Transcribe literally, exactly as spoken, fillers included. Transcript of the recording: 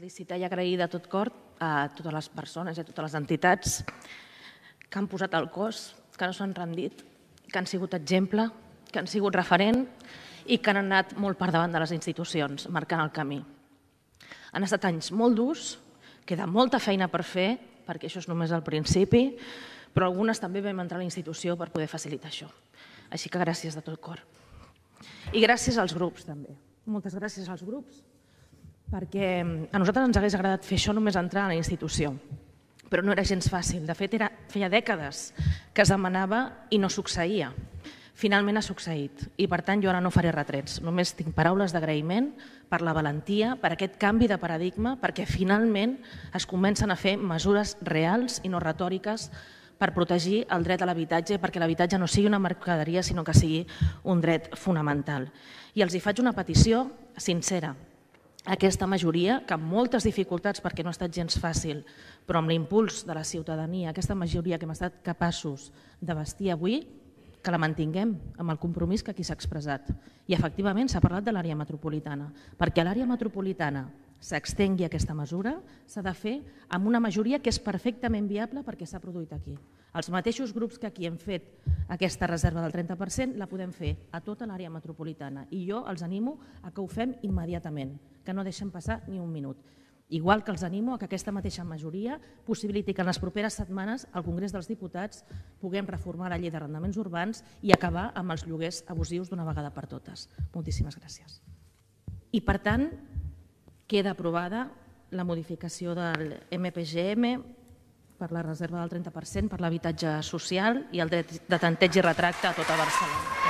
felicitar i agrair de tot cor a totes les persones i a totes les entitats que han posat el cos, que no s'han rendit, que han sigut exemple, que han sigut referent i que han anat molt per davant de les institucions, marcant el camí. Han estat anys molt durs, queda molta feina per fer, perquè això és només el principi, però algunes també vam entrar a la institució per poder facilitar això. Així que gràcies de tot cor. I gràcies als grups, també. Moltes gràcies als grups, perquè a nosaltres ens hagués agradat fer això només entrar a la institució, però no era gens fàcil. De fet, feia dècades que es demanava i no succeïa. Finalment ha succeït i, per tant, jo ara no faré retrets. Només tinc paraules d'agraïment per la valentia, per aquest canvi de paradigma, perquè finalment es comencen a fer mesures reals i no retòriques per protegir el dret a l'habitatge, perquè l'habitatge no sigui una mercaderia, sinó que sigui un dret fonamental. I els hi faig una petició sincera. Aquesta majoria, que amb moltes dificultats, perquè no ha estat gens fàcil, però amb l'impuls de la ciutadania, aquesta majoria que hem estat capaços de vestir avui, que la mantinguem amb el compromís que aquí s'ha expressat. I efectivament s'ha parlat de l'àrea metropolitana. Perquè a l'àrea metropolitana s'extengui aquesta mesura, s'ha de fer amb una majoria que és perfectament viable perquè s'ha produït aquí. Els mateixos grups que aquí hem fet aquesta reserva del trenta per cent la podem fer a tota l'àrea metropolitana. I jo els animo a que ho fem immediatament, que no deixem passar ni un minut. Igual que els animo a que aquesta mateixa majoria possibiliti que en les properes setmanes al Congrés dels Diputats puguem reformar la llei d'arrendaments urbans i acabar amb els lloguers abusius d'una vegada per totes. Moltíssimes gràcies. I per tant, queda aprovada la modificació del M P G M per la reserva del trenta per cent per l'habitatge social i el dret de tanteig i retracte a tota Barcelona.